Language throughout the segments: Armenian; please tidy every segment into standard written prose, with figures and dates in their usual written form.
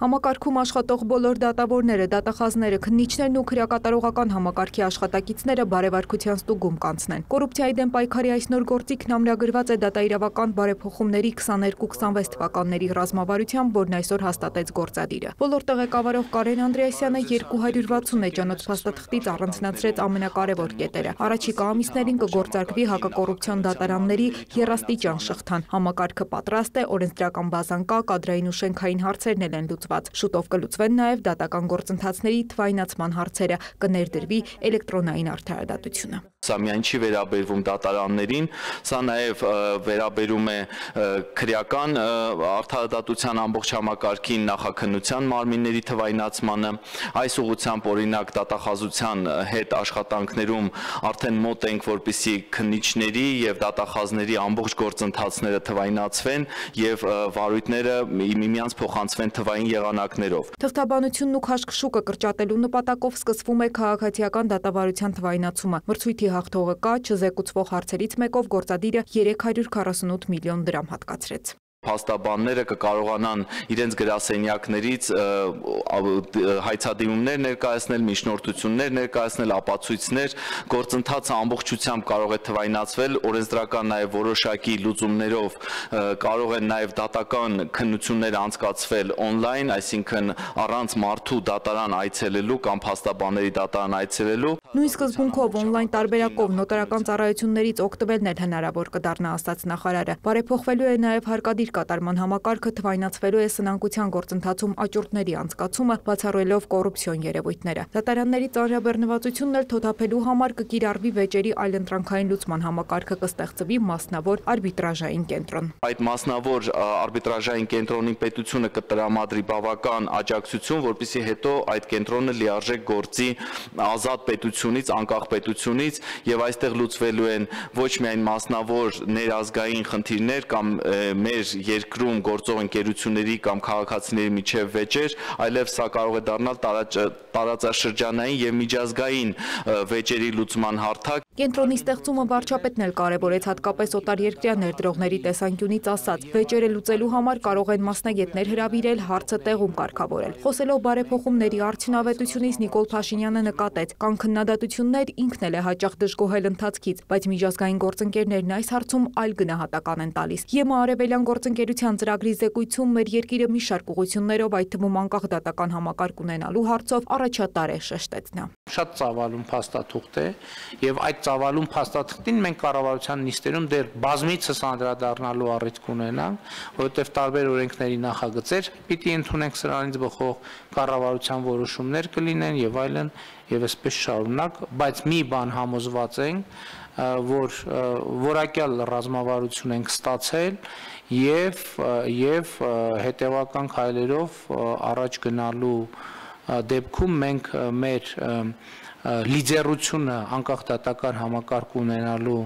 Համակարգում աշխատող բոլոր դատավորները, դատախազները, քննիչներն ու քրեակատարողական համակարգի աշխատակիցները բարեվարկության ստուգում կանցնեն։ Կոռուպցիայի դեմ պայքարի այս նոր գործիքն ամրագրված է դատաիրավական բարեփոխումների 22-26 թվականների ռազմավարությամբ, որն այսօր հաստատեց գործադիրը։ Ոլորտի ղեկավարող Կարեն Անդրեասյանը 260 էջանոց փաստաթղթից առանձնացրեց ամենակարևոր կետերը։ Առաջիկա ամիսներին կգործարկվի հակակոռուպցիոն դատարանների եռաստիճան շղթան։ Համակարգը պատրաստ է, օրենսդրական բազան կա, կադրային ու շենքային հարցերն են լուծված։ Շուտով կլուծվեն նաև դատական գործընթացների թվայնացման հարցերը, կներդրվի էլեկտրոնային արդարադատությունը։ Սա միայն չի վերաբերվում դատարաններին, սա նաև վերաբերում է քրեական արդարադատության ամբողջ համակարգին, նախաքննության մարմինների թվայնացմանը։ Այս ուղղությամբ օրինակ դատախազության հետ աշխատանքներում արդեն մոտ ենք, որպեսզի քննիչների եւ դատախազների ամբողջ գործընթացները թվայնացվեն եւ վարույթները միմյանց փոխանցվեն թվային եղանակներով։ Թղթաբանությունն ու քաշքշուկը կրճատելու նպատակով սկսվում է քաղաքացիական դատավարության թվայնացումը։ Մրցույթի հաղթողը կա, չզեկուցվող հարցերից մեկով գործադիրը 348 միլիոն դրամ հատկացրեց։ Փաստաբանները կկարողանան իրենց գրասենյակներից հայցադիմումներ ներկայացնել, միջնորդություններ ներկայացնել, ապացույցներ, գործընթացը ամբողջությամբ կարող է թվայնացվել, օրենսդրական նաև որոշակի լուծումներով կարող են նաև դատական քննություններ անցկացվել on-line, այսինքն առանց մարդու դատարան այցելելու կամ փաստաբանների դատարան այցելելու։ Նույն սկզբունքով on-line տարբերակով նոտարական ծառայություններից օգտվելն էլ հնարավոր կդառնա, ասաց նախարարը։ Բարեփոխվելու է նաև հարկադիր կատարման համակարգը, թվայնացվելու է սնանկության գործընթացում աճուրդների անցկացումը, բացառելով կոռուպցիոն երևույթները։ Դատարանների ծանրաբեռնվածությունն էլ թոթափելու համար կկիրառվի վեճերի այլընտրանքային լուծման համակարգը, կստեղծվի մասնավոր արբիտրաժային կենտրոն։ Այդ մասնավոր արբիտրաժային կենտրոնին պետությունը կտրամադրի բավական աջակցություն, որպեսզի հետո այդ կենտրոնը լիարժեք գործի ազատ պետությունից, անկախ պետությունից, եւ այստեղ լուծվելու են ոչ միայն մասնավոր ներազգային խնդիրներ կամ մեր երկրում գործող ընկերությունների կամ քաղաքացիների միջև վեճեր, այլև սա կարող է դառնալ տարածաշրջանային եւ միջազգային վեճերի լուծման հարթակ։ Կենտրոնի ստեղծումը վարչապետն էլ կարևորեց, հատկապես օտարերկրյա ներդրողների տեսանկյունից ասած, վեճերը լուծելու համար կարող են մասնագետներ հրավիրել, հարցը տեղում կարգավորել։ Խոսելով բարեփոխումների արդյունավետությունից Նիկոլ Փաշինյանը նկատեց, կան քննադատություններ, ինքն էլ է հաճախ դժգոհել ընթացքից, բայց միջազգային գործընկերներն այս հարցում այլ գնահատական են տալիս։ ԵՄ արևելյան գործընկերության ծրագրի զեկույցում մեր երկիրը մի շարք ուղղություններով, այդ թվում անկախ դատական համակարգ ունենալու հարցով առաջատար է, շեշտեց նա։ Շատ ծավալուն փաստաթուղթ է եւ այդ ծավալուն փաստաթղթին մենք կառավարության նիստերում դեռ բազմիցս անդրադառնալու առիթ կունենանք, որովհետեւ տարբեր օրենքների նախագծեր պիտի ընդունենք սրանից բխող կառավարության որոշումներ կլինեն եւ այլն եւ այսպես շարունակ, բայց մի բան համոզված ենք, որ որակյալ ռազմավարություն ենք ստացել եւ հետեւական քայլերով առաջ գնալու դեպքում մենք մեր լիդերությունը անկախ դատական համակարգ ունենալու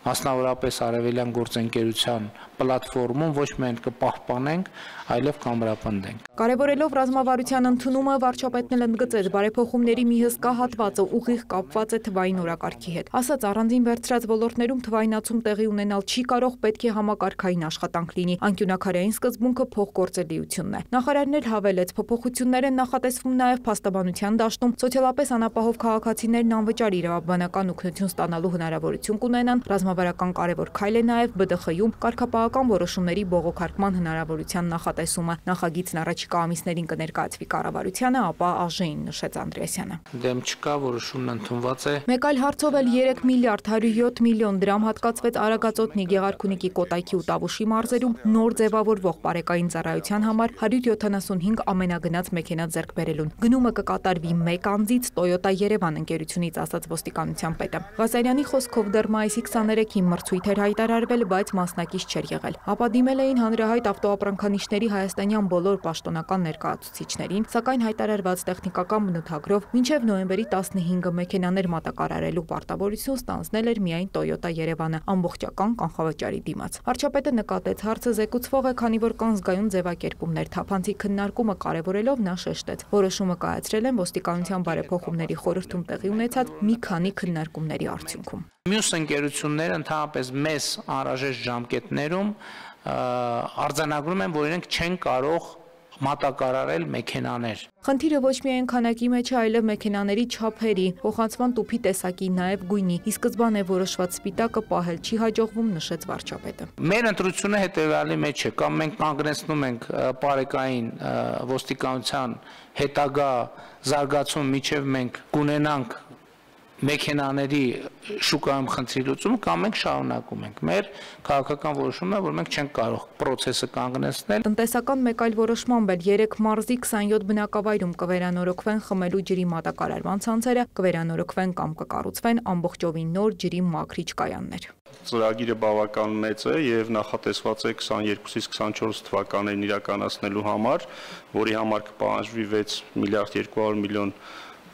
մասնավորապես արևելյան գործընկերության պլատֆորմում ոչ միայն կպահպանենք, այլև կամրապնդենք։ Կարևորելով ռազմավարության ընդունումը, վարչապետն էլ ընդգծեց, բարեփոխումների մի հսկա հատվածը ուղիղ կապված է թվային օրակարգի հետ։ Ասաց, առանձին վերցրած ոլորտներում թվայնացում տեղի ունենալ չի կարող, պետք է համակարգային աշխատանք լինի։ Անկյունաքարային սկզբունքը փոխգործելիությունն է։ Նախարարն էլ հավելեց, փոփոխություններ են նախատեսվում նաև փաստաբանության դաշտում, սոցիալապես անապահով քաղաքացիներն անվճար իրավաբանական օգնություն ստանալու հնարավորություն կունենան։ Ռազմավարական կարևոր քայլ է նաև ԲԴԽ-ում կարգապահական որոշումների բողոքարկման հնարավորության նախատեսումը։ Նախագիծն առաջիկա ամիսներին կներկայացվի կառավարությանը, ապա ԱԺ-ին, նշեց Անդրեասյանը։ Դեմ չկա, որոշումն ընդունված է։ Մեկ այլ հարցով էլ 3 միլիարդ 107 միլիոն դրամ հատկացվեց Արագածոտնի, Գեղարքունիքի, Կոտայքի ու Տավուշի մարզերում նոր ձևավորվող պարեկային ծառայության համար 175 ամենագնաց մեքենա ձեռք բերելուն։ Գնումը կկատարվի մեկ անձից Toyota Երևան ընկերությունից, ասաց ոստիկանության պետը։ Ղազարյանի խոսքով դեռ մայիսի 23-ին մրցույթ էր հայտարարվել, բայց մասնակից չէր եղել։ Ապա դիմել էին հանրահայտ ավտոապրանքանիշների հայաստանյան բոլոր պաշտոնական ներկայացուցիչներին, սակայն հայտարարված տեխնիկական բնութագրով մինչև նոյեմբերի 15-ը մեքենաներ մատակարարելու պարտավորություն ստանձնել էր միայն Toyota Երևանը ամբողջական կանխավճարի դիմաց։ Վարչապետը նկատեց, հարցը զեկուցվող է, քանի որ կան զգայուն ձևակերպումներ, թափանցիկ քննարկումը կարևորելով նա շեշտեց։ Որոշումը կայացրել են ոստիկանության բարեփոխումների խորհրդում տեղի ունեցած մի քանի քննարկումների արդյունքում։ Մյուս ընկերությունները ընդհանրապես մեծ անհրաժեշտ ժամկետներում արձանագրում են, որ իրենք չեն կարող մատակարարել մեքենաներ։ Խնդիրը ոչ միայն քանակի մեջ է, այլև մեքենաների չափերի, փոխանցման տուփի տեսակի, նաև գույնի։ Ի սկզբանե որոշված սպիտակը պահել չի հաջողվում, նշեց վարչապետը։ Մեր ընտրությունը հետևյալի մեջ է, կամ մենք կանգնեցնում ենք պարեկային ոստիկանության հետագա զարգացում, միջև մենք կունենանք մեքենաների շուկայում խնդրի լուծում, կամ մենք շարունակում ենք։ Մեր քաղաքական որոշումն է, որ մենք չենք կարող process-ը կանգնեցնել։ Տնտեսական մեկ այլ որոշմամբ էլ 3 մարզի 27 բնակավայրում կվերանորոգվեն խմելու ջրի մատակարարման ցանցերը, կվերանորոգվեն կամ կկառուցվեն ամբողջովին նոր ջրի մաքրիչ կայաններ։ Ծրագիրը բավական մեծ է եւ նախատեսված է 22-ից 24 թվականներին իրականացնելու համար, որի համար կպահանջվի 6 միլիարդ 200 միլիոն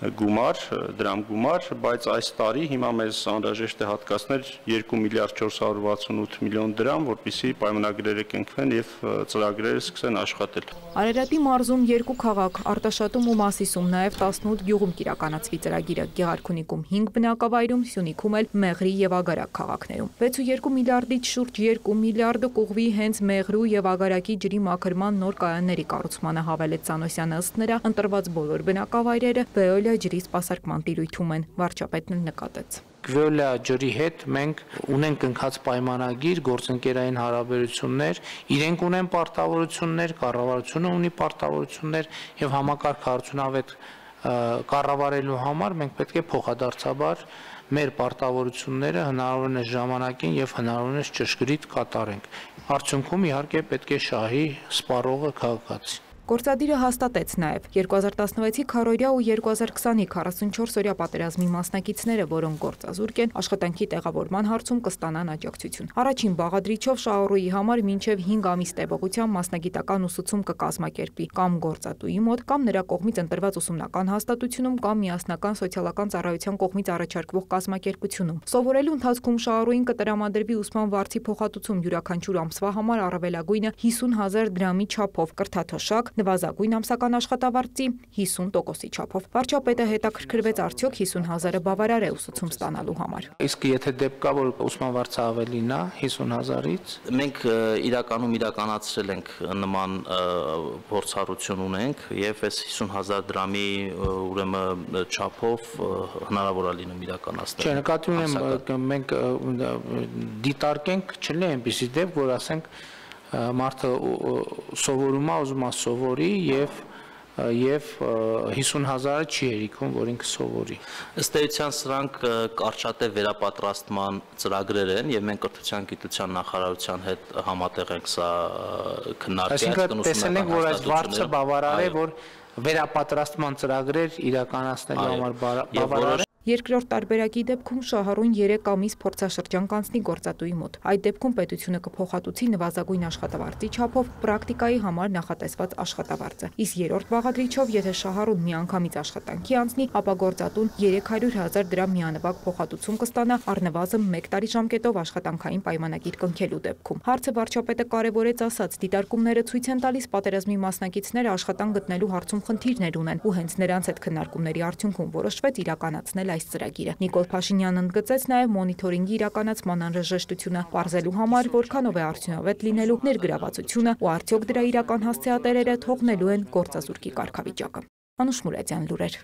դրամ գումար, բայց այս տարի հիմա մեզ անհրաժեշտ է հատկացնել 2 միլիարդ 468 միլիոն դրամ, որպեսզի պայմանագրերը կնքվեն եւ ծրագրերը սկսեն աշխատել։ Արարատի մարզում 2 քաղաք, Արտաշատում ու Մասիսում, նաև 18 գյուղում կիրականացվի ծրագիրը, Գեղարքունիքում 5 բնակավայրում, Սյունիքում էլ Մեղրի եւ Ագարակ քաղաքներում։ 6.2 միլիարդից շուրջ 2 միլիարդը կուղվի հենց Մեղրու եւ Ագարակի ջրի մաքրման նոր կայանների կառուցմանը, հավելեց Սանոսյանը, ըստ նրա, ընտրված բոլոր բնակավայրերը Վեոլիա ջրի սպասարկման տիրույթում են, վարչապետն նկատեց։ Վեոլիա ջրի հետ մենք ունենք ընկած պայմանագիր, գործընկերային հարաբերություններ, իրենք ունեն պարտավորություններ, կառավարությունը ունի պարտավորություններ եւ համակարգ արդյունավետ կառավարելու համար մենք պետք է փոխադարձաբար մեր պարտավորությունները հնարավորինս ժամանակին եւ հնարավորինս ճշգրիտ կատարենք։ Արդյունքում իհարկե պետք է շահի սպառողը քաղաքացի։ Գործադիրը հաստատեց նաև 2016-ի քառօրյա ու 2020-ի 44-օրյա պատերազմի մասնակիցները, որոնք գործազուրկ են, աշխատանքի տեղավորման հարցում կստանան աջակցություն։ Առաջին բաղադրիչով շահառուի համար մինչև 5 ամիս տևողությամբ մասնագիտական ուսուցում կկազմակերպի կամ գործատուի մոտ, կամ նրա կողմից ընտրված ուսումնական հաստատությունում, կամ միասնական սոցիալական ծառայության կողմից առաջարկվող կազմակերպությունում։ Սովորելու ընթացքում շահառուին կտրամադրվի ուսման վարձի փոխհատուցում յուրաքանչյուր ամսվա համար առավելագույնը 50,000 դրամի չափով, կրթաթոշակ, նվազագույն ամսական աշխատավարձի 50%-ի չափով։ Վարչապետը հետաքրքրվեց, արդյոք 50,000-ը բավարար է ուսուցում ստանալու համար։ Իսկ եթե դեպք կա, որ ուսման վարձը ավելին է 50,000-ից, մենք իրականում իրականացրել ենք նման փորձառություն ունենք եւ այս 50,000 դրամի ուրեմն չափով հնարավոր է լինում իրականացնել։ Չէ, նկատի ունեմ մենք դիտարկենք, չլինի այնպիսի դեպք, որ ասենք մարդը սովորում է, ուզում է սովորի եւ 50,000-ը չի հերիքում, որ ինքը սովորի։ Ըստ էության սրանք կարճատև վերապատրաստման ծրագրեր են եւ մենք կրթության գիտության նախարարության հետ համատեղ ենք սա քննարկել։ Այսինքն տեսել ենք, որ այս վարձը բավարար է, որ վերապատրաստման ծրագրեր իրականացնելու համար բավարար է։ Երկրորդ տարբերակի դեպքում շահառուն 3 ամիս փորձաշրջան կանցնի գործատուի մոտ։ Այդ դեպքում պետությունը կփոխհատուցի նվազագույն աշխատավարձի չափով պրակտիկայի համար նախատեսված աշխատավարձը։ Իսկ երրորդ բաղադրիչով, եթե շահառուն միանգամից աշխատանքի անցնի, ապա գործատուն 300,000 դրամ միանվագ փոխհատուցում կստանա առնվազն 1 տարի ժամկետով աշխատանքային պայմանագիր կնքելու դեպքում։ Հարցը վարչապետը կարևորեց, ասաց, դիտարկումները ցույց են տալիս պատերազմի մասնակիցները աշխատանք գտնելու հարցում խնդիրներ ունեն, ու հենց նրանց հետ քննարկումների արդյունքում որոշվեց իրականացնել այս ծրագիրը։ Նիկոլ Փաշինյանն ընդգծեց նաև մոնիթորինգի իրականացման անհրաժեշտությունը, պարզելու համար, որքանով է արդյունավետ լինելու ներգրավվածությունը ու արդյոք դրա իրական հասցեատերերը թողնելու են գործազուրկի կարգավիճակը։ Անուշ Մուրադյան, լուրեր։